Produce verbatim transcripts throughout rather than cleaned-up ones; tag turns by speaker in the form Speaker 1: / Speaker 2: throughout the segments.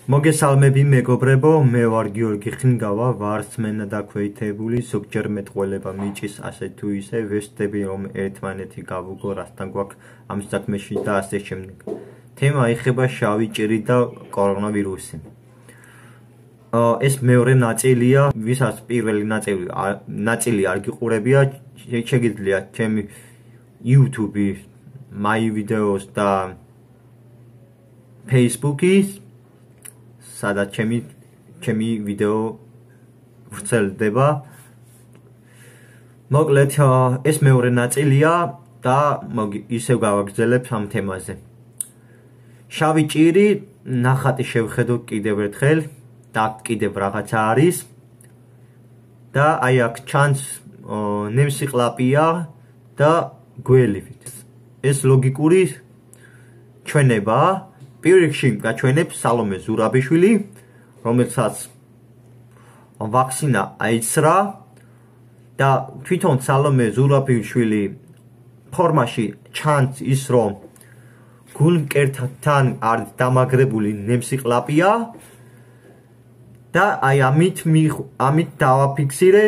Speaker 1: მოგესალმები მეგობრებო, მე ვარ გიორგი ხინგავა, ვარსმენა დაქვეითებული, ზოგჯერ მეტყველება მიჭის ასე თუ ისე, ვეცდები რომ ერთმანეთი გავუგო, რასთან გვაქვს ამ საქმეში და ასე შემდეგ. თემა ეხება შავი ჭირი და კორონავირუსი. ეს მეორე ნაწილია, ვისაც პირველი ნაწილი ნაწილი არ გიყურებია, შეგიძლიათ ჩემი YouTube, My Videos და Facebook-ის სადაც ჩემი ჩემი ვიდეო ვრცელდება. მოკლედ ეს მეორე ნაწილია და ისევ გავაგრძელებ ამ თემაზე. შავი ჭირი, ნახატი შევხედო კიდევ ერთხელ და კიდევ რაღაცა არის და აი აქ ჩანს ნემსიყლაპია და გველივით. ეს ლოგიკური ჩვენებაა. პირიქში გაჩვენებს სალომე ზურაბიშვილი, რომელსაც ვაქცინა აიცრა და თვითონ სალომე ზურაბიშვილი ფორმაში ჩანს ის, რომ გულმკერდთან არის დამაგრებული ნემსიყლაპია და აი ამით ამით დავაფიქსირე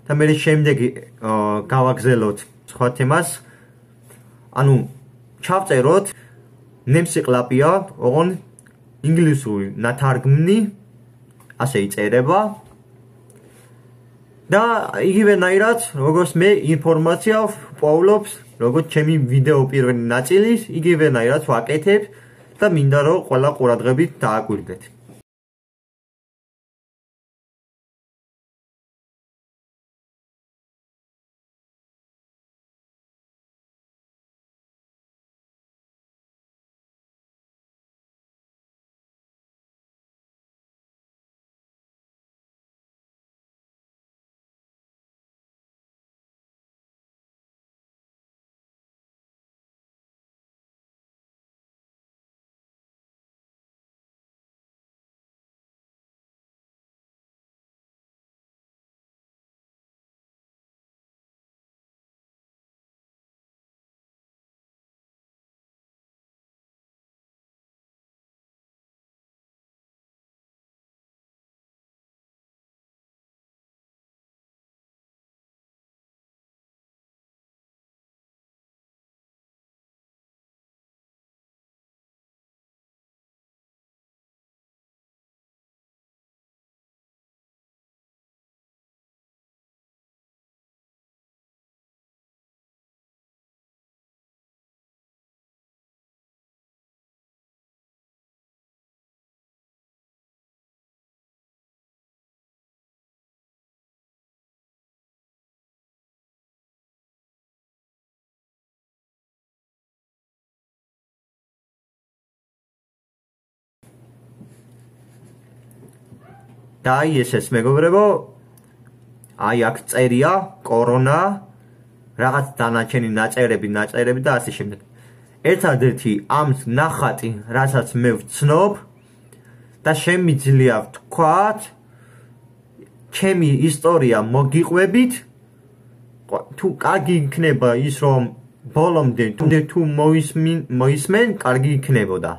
Speaker 1: და მე შემდეგი გავაგზელოთ სხვა თემას. ანუ ჩავწეროთ ნემსიყლაპია, ოღონ ინგლისური ნათარგმნი ასე იწერება და იგივენაირად, როგორც მე ინფორმაცია ვპოვლობს, როგორც ჩემი ვიდეო პირველი ნაწილის, იგივენაირად ვაკეთებ და მინდა რომ ყველა ყურადღებით დააკვირდეთ. და აი ესეც მეგობრებო, აი აქ წერია კორონა, რაღაც დანარჩენი ნაწერები, ნაწერები და ასე შემდეგ. ერთადერთი ამ ნახატი, რასაც მე ვცნობ და შემიძლია ვთქვათ, ჩემი ისტორია მოგიყვებით, თუ კარგი იქნება ის, რომ ბოლომდე თუ მოისმენ, კარგი იქნებოდა.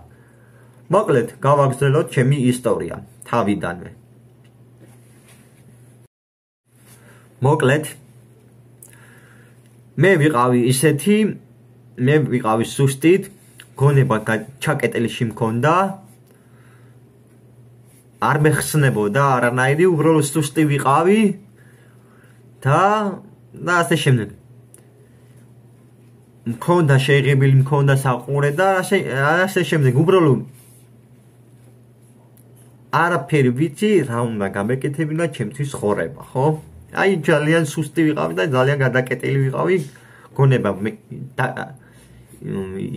Speaker 1: მოკლედ, გავაგრძელოთ ჩემი ისტორია თავიდანვე. მოკლედ, მე ვიყავი ისეთი, მე ვიყავი სუსტით, გონება ჩაკეტილში მქონდა, არ მეხსნებოდა არანაირი, უბრალოდ სუსტი ვიყავი და და ასე შემდეგ. მქონდა შეიღებილი, მქონდა საყურე და ასე შემდეგ. უბრალოდ არაფერი ვიცი, რა უნდა გამეკეთებინა ჩემთვის ხორება, ხო? აი ძალიან სუსტი ვიყავი და ძალიან გადაკეტილი ვიყავი, გონება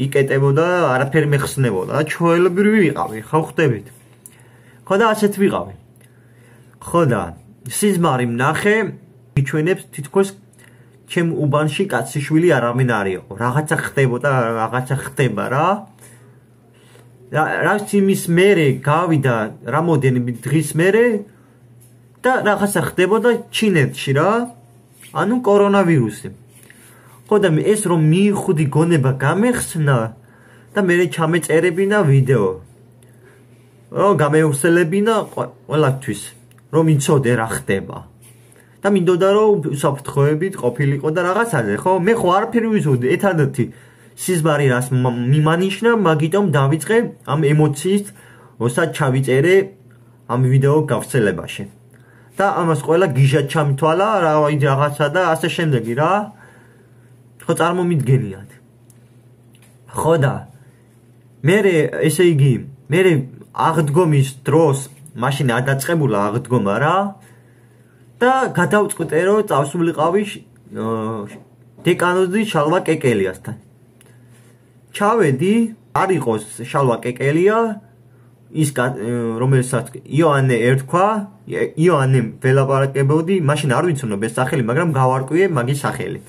Speaker 1: იკეტებოდა, არაფერი მეხსნებოდა და ჩვეულებრივი ვიყავი, ხო ხვდებით? ხო და ასეთ ვიყავი. ხო და სიზმარი ვნახე, მიჩვენებს თითქოს ჩემ უბანში კაციშვილი არავინ არ იყო. რაღაცა ხდებოდა, რაღაცა ხდება რა. რაც იმის მერე გავიდა რამოდენიმე დღის მერე და რაღაცა ხდებოდა ჩინეთში რა, ანუ კორონავირუსი. ხო და ეს რომ მიიხუდი გონება გამეხსნა და მე ჩამეწერებინა ვიდეო. რომ გამევრცელებინა ყველასთვის, რომ იცოდე რა ხდება. და მინდოდა რომ უსაფრთხოებით ყოფილიყო და რაღაცაზე, ხო? მე ხო არაფერი ვიცოდი, ერთადერთი სიზმარი რას მიმანიშნა, მაგიტომ დავიწყე ამ ემოციის, როცა ჩავიწერე ამ ვიდეო გავრცელებაში. და ამას ყველა გიჟად ჩამთვალა, რაღაცა და ასე შემდეგი რა. ხო წარმომიდგენიათ. ხო და მე ესე იგი, მე აღდგომის დროს მაშინ ადაწყებულა აღდგომა რა. და გადავწყვიტე რომ წავსულიყავი დეკანოზი შალვა კეკელიასთან. ჩავედი, არ იყოს შალვა კეკელია, ის რომელსაც იოანე ერთხვა, იოანე ველაპარაკებოდი, მაშინ არ ვიცნობ ეს სახელი, მაგრამ გავარკვიე მაგის სახელით.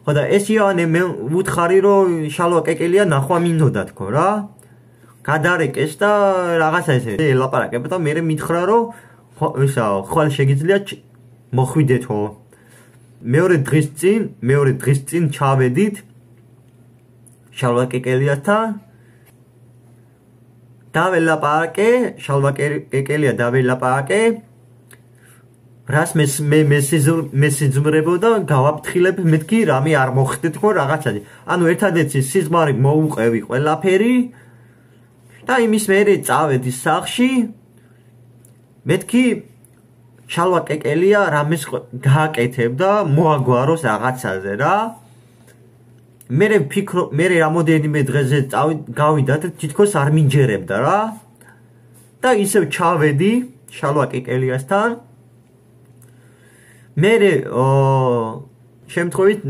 Speaker 1: ხო და ეს იოანე მე ვუთხარი რომ შალვა კეკელია ნახვა მინდოდა თქო რა. გადარეკეს და რაღაცა ესე ელაპარაკება და მე მითხრა რომ ისა ხვალ შეგიძლია მოხვიდეთო. მეორე დღის წინ, მეორე დღის წინ ჩავედით შალვა კეკელიასთან. დაველაპარაკე, შალვა კეკელია დაველაპარაკე. რას მე მე სიზმრებოდა გავაფრთხილებ მეთქი რამე არ მოხდეთ ხო რაღაცადი. ანუ ერთადერთი სიზმარი მოუყევი ყველაფერი და იმის მერე წავედი სახლში. მეთქი შალვა კეკელია რამეს გააკეთებდა, მოაგვაროს რაღაცაზე რა. მე ფიქრო, მე რამოდენიმე დღეზე გავიდა და თითქოს არ მინჯერებდა რა. და ისევ ჩავედი შალვა კეკელიასთან. მე შემთხვევით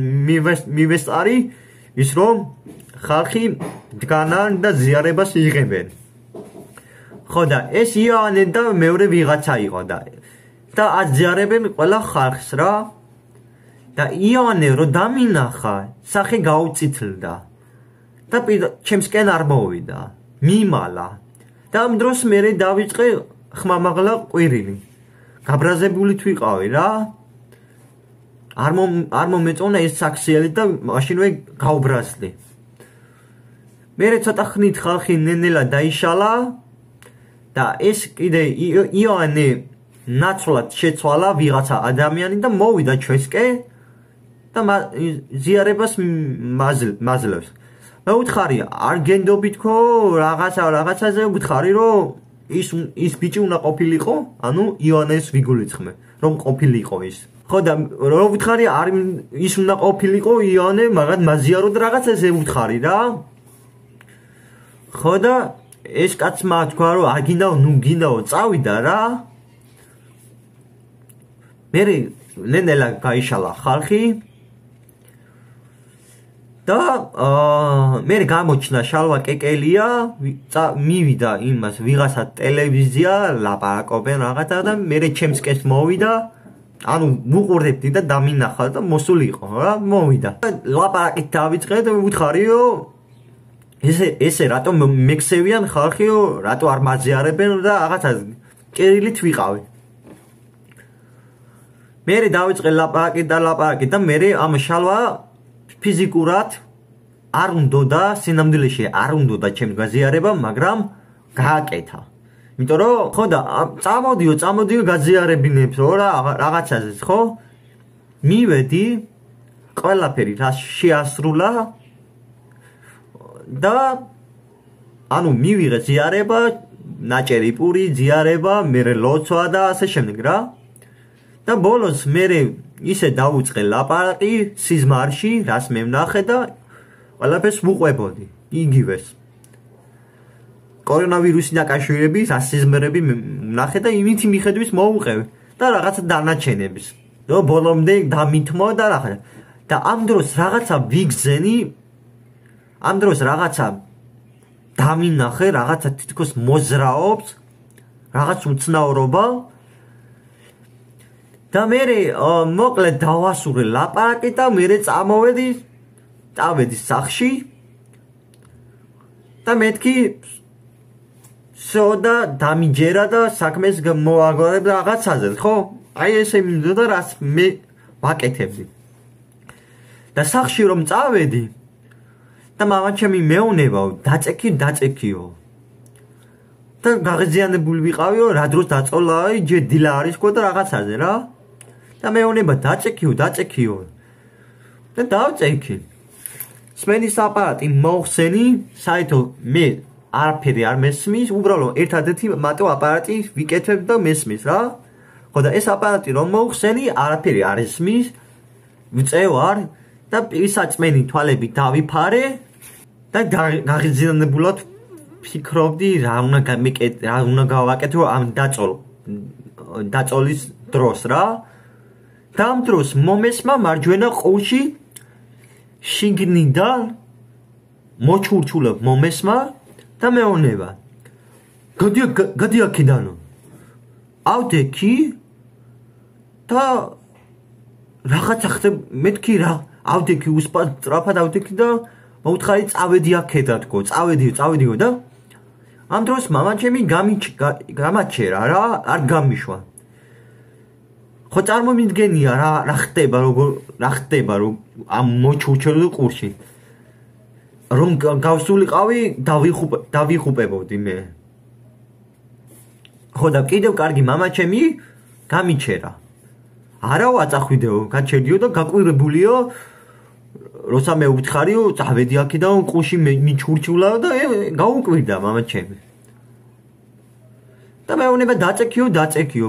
Speaker 1: მივესწარი ის რომ ხალხი დგანან და ზიარებას იღებენ. ხო და ეს იოანე და მეორე ვიღაცა იყო და და აზიარებენ ყველა ხალხს რა. და იოანე რო დამინახა, სახე გაუწითლდა. და ჩემსკენ არ მოვიდა, მიმალა. და ამ დროს მე დავიწყე ხმამაღლა ყვირილი. გაბრაზებული თვიყავი რა. არ არ მომეწონა ეს საქსიელი და მაშინვე გავბრაზდი. მე ცოტა ხნით ხალხი ნენელა დაიშალა და ეს კიდე იოანე ნაცვლად შეცვალა ვიღაცა ადამიანი და მოვიდა ჩვენსკენ და ზიარებას მაძლევს. მე ვუთხარი არ გენდობითქო რაღაცა რაღაცაზე ვუთხარი რომ ის ის ბიჭი უნდა ყოფილიყო, ანუ იოანეს ვიგულიცხმე, რომ ყოფილიყო ის. ხო და რო ვუთხარი არ ის უნდა ყოფილიყო იოანე, მაგათ მაზიარო და რაღაცაზე ვუთხარი რა. ხო და ეს კაცმა თქვა რომ არ გინდაო, ნუ გინდაო, წავიდა რა. მე ნენელა გაიშალა ხალხი და მე გამოჩნდა შალვა კეკელია, მივიდა იმას ვიღაცა ტელევიზია, ლაპარაკობენ რაღაცა და მე ჩემსკენ მოვიდა, ანუ ვუყურებდი და დამინახა და მოსულიყო რა, მოვიდა. ლაპარაკით დავიწყე და ვუთხარი რომ ესე ესე რატომ მექსევიან ხალხი, რატო არ მაზიარებენ და რაღაცა წერილით ვიყავი. მე დავიწყე ლაპარაკი და ლაპარაკი და მე ამ შალვა ფიზიკურად არ უნდოდა, სინამდვილეში არ უნდოდა ჩემს გაზიარება, მაგრამ გააკეთა. იმიტომ რომ ხო და წამოდიო, წამოდიო გაზიარებინებს რა რაღაცაზე, ხო? მივედი, ყველაფერი რა შეასრულა და ანუ მივიღე ზიარება, ნაჭერი პური, ზიარება, მე ლოცვა და ასე შემდეგ რა. და ბოლოს მე ისე დავუწყე ლაპარაკი სიზმარში, რას მე ვნახე და ყველაფერს ვუყვებოდი, იგივეს. კორონავირუსი დაკავშირების ასიზმრები ვნახე და იმითი მიხედვის მოვუყევი და რაღაცა დანაჩენების. და ბოლომდე დამითმო და რაღაცა. და ამ დროს რაღაცა ვიგზენი, ამ დროს რაღაცა დამინახე, რაღაცა თითქოს მოძრაობს, რაღაც უცნაურობა. და მე მოკლედ დავასურე ლაპარაკი და მე წამოვედი, წავედი სახლში და მეთქი სოდა დამიჯერა და საქმეს მოაგვარებ რაღაცაზე, ხო? აი ესე მინდოდა რაც მე ვაკეთებდი. და სახლში რომ წავედი და მამაჩემი მეუნებაო, დაწექი, დაწექიო. და გაღიზიანებული ვიყავიო, რა დროს დაწოლა, ჯერ დილა არის ყო და რაღაცაზე რა. და მეუბნება დაწექიო, დაწექიო. და დავწექი. სმენის აპარატი მოხსენი, საერთოდ მე არაფერი არ მესმის, უბრალოდ ერთადერთი მარტო აპარატი ვიკეთებ და მესმის რა. ხო და ეს აპარატი რომ მოხსენი, არაფერი არ ესმის. ვწევარ და პირსაწმენი თვალები დავიფარე და გაღიზიანებულად ფიქრობდი რა უნდა გამიკეთო, რა უნდა გავაკეთო ამ დაწოლ დაწოლის დროს რა. და ამ დროს მომესმა მარჯვენა ყურში შიგნიდან მოჩურჩულებ მომესმა და მეუბნება გადი გადი აქედანო ავდექი და რაღაცა ხდება მეთქი რა ავდექი უსწრაფად ავდექი და მოუთხარი წავედი აქედან თქო წავედიო წავედიო და ამ დროს მამაჩემი გამაჩერა რა არ გამიშვა ხო წარმომიდგენია რა რა ხდება როგორ რა ხდება რომ ამ მოჩურჩულ ყურში რომ გავსულიყავი დავიხუპ დავიხუპებოდი მე ხო და კიდევ კარგი მამაჩემი გამიჩერა არა ვაწახვიდეო გაჩერდიო და გაკვირებულიო როცა მე ვუთხარიო წავედი აქედან ყურში მიჩურჩულა და გაუკვირდა მამაჩემი და მეუბნება დაწექიო დაწექიო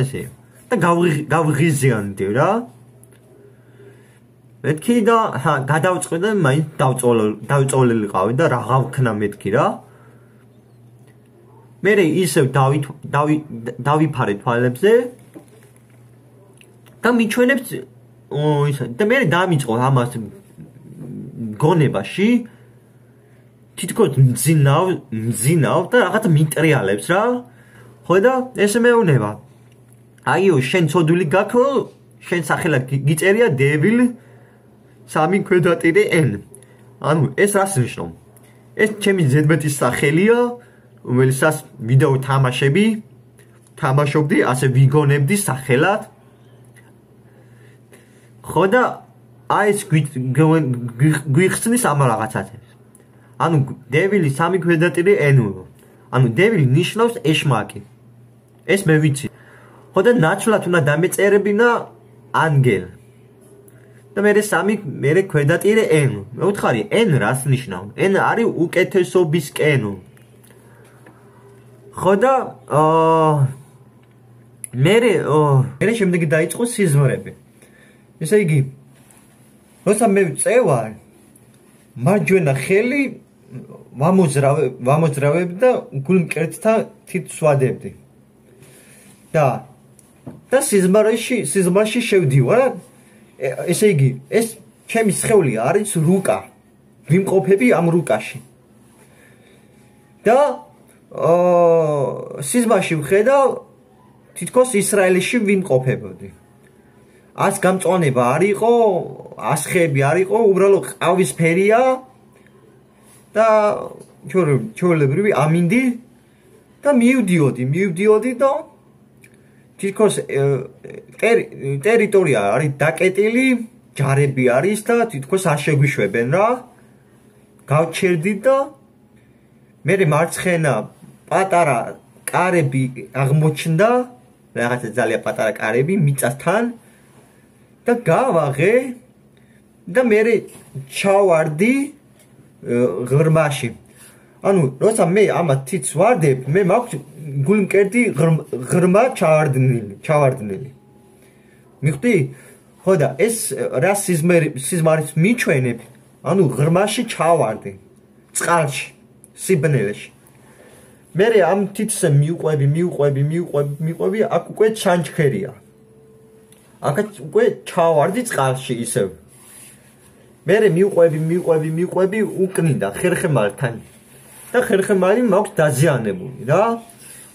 Speaker 1: ესე და გავღიზიანდი რა მეთქი და გადავწყვი და მაინც დავწოლილიყავი და რა გავქნა მეთქი რა მე ისევ დავიფარე თვალებზე და მიჩვენებს და მე დამიწყო ამას გონებაში თითქოს მძინავ მძინავ და რაღაც მიტრიალებს რა ხო და ესე მეუბნება აიო შენ ცოდვილი გაქვს შენ სახელად გიწერია დევილ სამი ქვედატირე n ანუ ეს რას ნიშნავს ეს ჩემი ზედმეტის სახელია რომელსაც ვიდეო თამაშები თამაშობდი ასე ვიგონებდი სახელად ხო და აი ეს გვიხსნის ამ რაღაცას ანუ დევილი სამი ქვედატირე n ანუ დევილი ნიშნავს ეშმაკი ეს მე ვიცი ხო და ნაცვლად უნდა დამეწერებინა ანგელ და მე სამი მე ქვედატირე n მე ვთხარი n რას ნიშნავს n არის უკეთესობისკენ ხო და მე მე შემდეგი დაიწყო სიზმრები ესე იგი როცა მე წევარ მარჯვენა ხელი ვამოძრავე ვამოძრავებ და გულმკერდთან თითს ვადებდი და და სიზმარში სიზმარში შევდივარ ესე იგი ეს ჩემი სხეული არის რუკა ვიმყოფები ამ რუკაში და აა სიზმარში ვხედავ თითქოს ისრაელში ვიმყოფებოდი ას გამწონება არ იყო ასხები არ იყო უბრალოდ ყავისფერია და ჩვეულებრივი ამინდი და მივდიოდი მივდიოდი და თითქოს ტერიტორია არის დაკეტილი ჯარები არის და თითქოს არ შეგვიშვებენ რა გავჩერდი და მე მარცხენა პატარა კარები აღმოჩნდა რაღაცა ძალიან პატარა კარები მიწასთან და გავაღე და მე ჩავარდი ღრმაში ანუ როცა მე ამათ თითს ვარდებ მე მაქვს გულმკერდი ღრმა ჩავარდნილი ჩავარდნილი მიხდი ხო და ეს რა სიზმარის მიჩვენებ ანუ ღრმაში ჩავარდი წყალში სიბნელეში მე ამ თითს მიუყვები მიუყვები მიუყვები მიუყვები აქ უკვე ჩანჩქერია აქაც უკვე ჩავარდი წყალში ისევ მე მიუყვები მიუყვები მიუყვები უკნიდა ხერხემალთან და ხერხემალი მაქვს დაზიანებული რა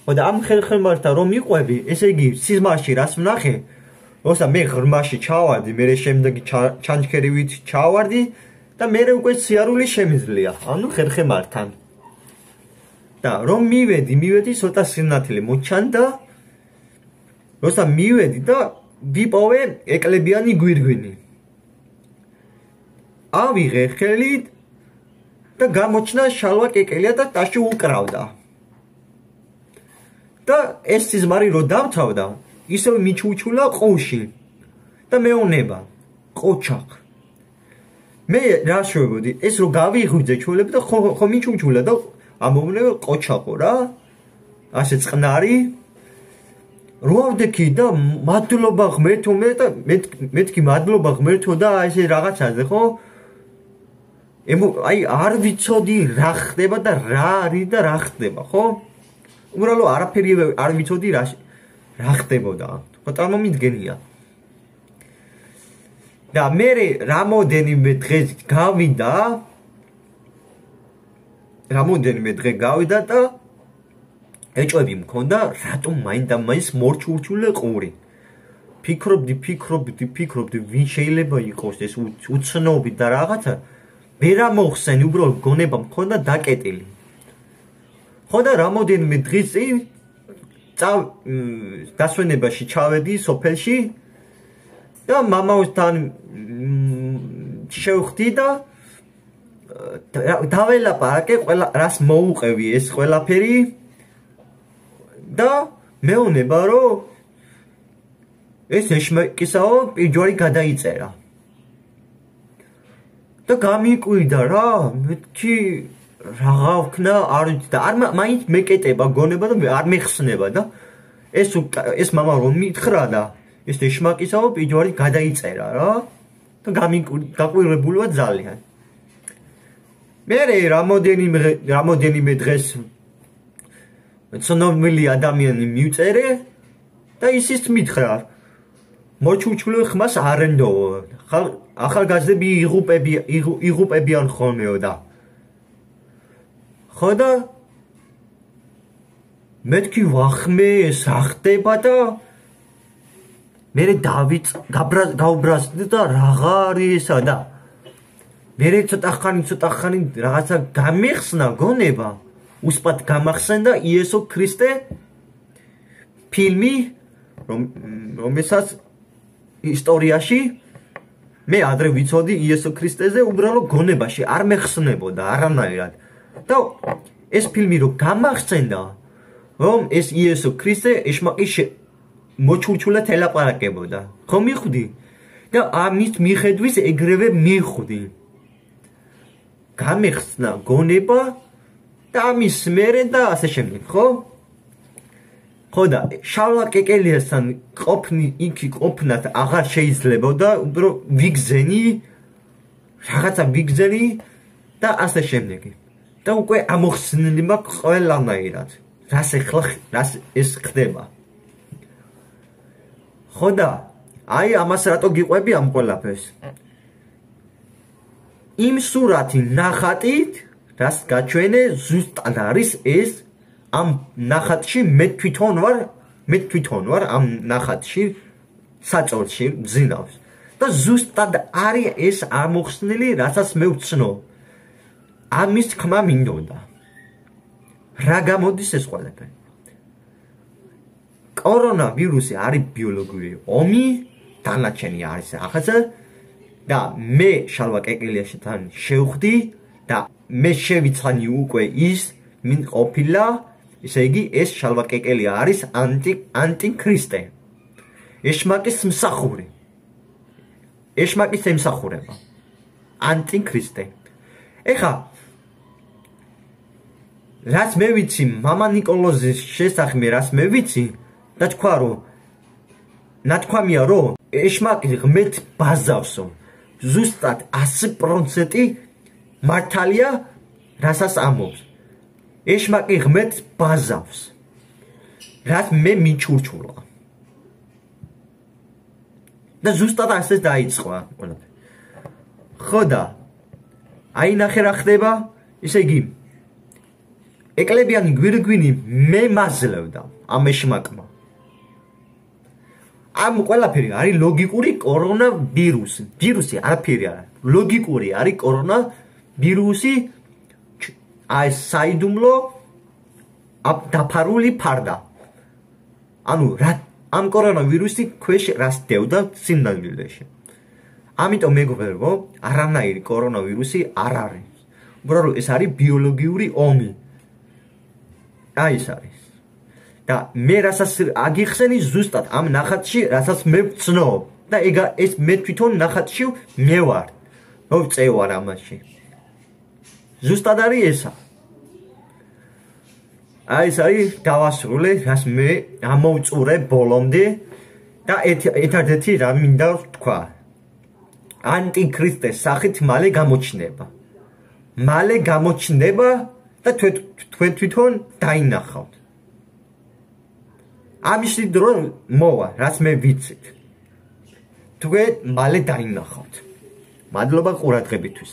Speaker 1: ხო და ამ ხერხემალთან რომ მიყვები ესე იგი სიზმარში რას ვნახე როცა მე ღრმაში ჩავარდი მე შემდეგი ჩანჩქერივით ჩავარდი და მე უკვე სიარული შემიძლია ანუ ხერხემალთან და რომ მივედი მივედი ცოტა სინათლე მოჩანდა როცა მივედი და ვიპოვე ეკლებიანი გვირგვინი ავიღე ხელით და გამოჩნდა შალვა კეკელია და ტაში უკრავდა და ეს სიზმარი რო დამთავრდა, ისევ მიჩუჩულა ყუში და მეუნება, ყოჩახ. მე რა შევებოდი, ეს რო გავიღვიძე ჩვეულები და ხო ხო მიჩუჩულა და ამოვნებე ყოჩახო რა. ასე წყნარი რო ავდექი და მადლობა ღმერთო მე და მეთქი მადლობა ღმერთო და ესე რაღაცაზე ხო? აი არ ვიცოდი რა ხდება და რა არის და რა ხდება, ხო? უბრალოდ არაფერი არ ვიცოდი რა რა ხდებოდა. ხო წარმომიდგენია. და მე რამოდენიმე დღეს გავიდა რამოდენიმე დღე გავიდა და ეჭვები მქონდა რატომ მაინდა მაინც მორჩურჩულე ყური. ფიქრობდი, ფიქრობდი, ფიქრობდი, ვინ შეიძლება იყოს ეს უცნობი და რაღაცა ვერ ამოხსენი, უბრალოდ გონება მქონდა დაკეტილი. ხო და რამოდენიმე დღის წინ დასვენებაში ჩავედი სოფელში და მამასთან შევხვდი და დაველაპარაკე ყველა რას მოუყევი ეს ყველაფერი და მეუნება რომ ეს ეშმაკისაო პირჯვარი გადაიწერა და გამიკვირდა რა მეთქი რაღა ვქნა არ ვიცი და არ მაინც მეკეტება გონება და არ მეხსნება და ეს ეს მამა რომ მითხრა და ეს ეშმაკისაო პირჯვარი გადაიწერა რა და გამიკვირებული ვარ ძალიან მე რამოდენიმე რამოდენიმე დღეს ცნობილი ადამიანი მივწერე და ისიც მითხრა მოჩუჩული ხმას არენდო ახალგაზრდები იღუპები იღუპებიან ხოლმეო და ხო და მეთქი ვახმე რა ხდება და მე დავით გავბრაზდი და რაღა არის ესა და მე ცოტა ხანი ცოტა ხანი რაღაცა გამიხსნა გონება უსპად გამახსენდა იესო ქრისტე ფილმი რომელსაც ისტორიაში მე ადრე ვიცოდი იესო ქრისტეზე უბრალოდ გონებაში არ მეხსნებოდა არანაირად და ეს ფილმი რო გამახსენდა რომ ეს იესო ქრისტე ეშმაკის მოჩურჩულად ელაპარაკებოდა ხო მიხვდი და ამის მიხედვის ეგრევე მიხვდი გამეხსნა გონება და ამის მერე და ასე შემდეგ ხო ხო და შავლა კეკელიასთან ყოფნი იქი ყოფნათ აღარ შეიძლებოდა უბრალოდ ვიგზენი რაღაცა ვიგზენი და ასე შემდეგ და უკვე ამოხსნილი მაქვს ყველანაირად რას ეხლა რას ეს ხდება ხო და აი ამას რატო გიყვები ამ ყველაფერს იმ სურათი ნახატით რას გაჩვენე ზუსტად არის ეს ამ ნახატში მე თვითონ ვარ მე თვითონ ვარ ამ ნახატში საწოლში მძინავს და ზუსტად არის ეს ამოხსნილი რასაც მე ვცნო ამის თქმა მინდოდა რა გამოდის ეს ყველაფერი კორონავირუსი არის ბიოლოგიური ომი დანარჩენი არის ახლა და მე შალვა კეკელიაშთან შევხვდი და მე შევიცანი უკვე ის მინ ყოფილა ისე იგი ეს შალვა კეკელია არის ანტი ანტიქრისტე ეშმაკის მსახური ეშმაკის ემსახურება ანტიქრისტე ეხა რაც მე ვიცი მამა ნიკოლოზის შესახმე რაც მე ვიცი და თქვა რომ ნათქვამია რომ ეშმაკი ღმერთ ბაზავსო ზუსტად ასი პროცენტი მართალია რასაც ამბობს ეშმაკი ღმერთ ბაზავს რაც მე მიჩურჩულა და ზუსტად ასე დაიწყო ყველაფერი ხო და აი ნახე რა ხდება ისე იგი ეკლებიანი გვირგვინი მე მაძლევდა ამ ეშმაკმა ამ ყველაფერი არის ლოგიკური კორონავირუსი ვირუსი არაფერი არა ლოგიკური არის კორონავირუსი აი საიდუმლო დაფარული ფარდა ანუ რა ამ კორონავირუსი ქვეშ რას დევდა სიმდიდრეში ამიტომ მეგობრებო არანაირი კორონავირუსი არ არის უბრალოდ ეს არის ბიოლოგიური ომი აი ეს არის და მე რასაც აგიხსენი ზუსტად ამ ნახატში, რასაც მე ვცნობ და ეგ ეს მე თვითონ ნახატში მე ვარ. მოვწევარ ამაში. ზუსტად არის ესა. აი ეს არის დავასრულე, რას მე ამოვწურე ბოლომდე და ერთადერთი რა მინდა თქვა. ანტიქრისტეს სახით მალე გამოჩნდება. მალე გამოჩნდება და თქვენ თვითონ დაინახავთ. ამის დრო მოვა, რაც მე ვიცით. თქვენ მალე დაინახავთ. მადლობა ყურადღებისთვის.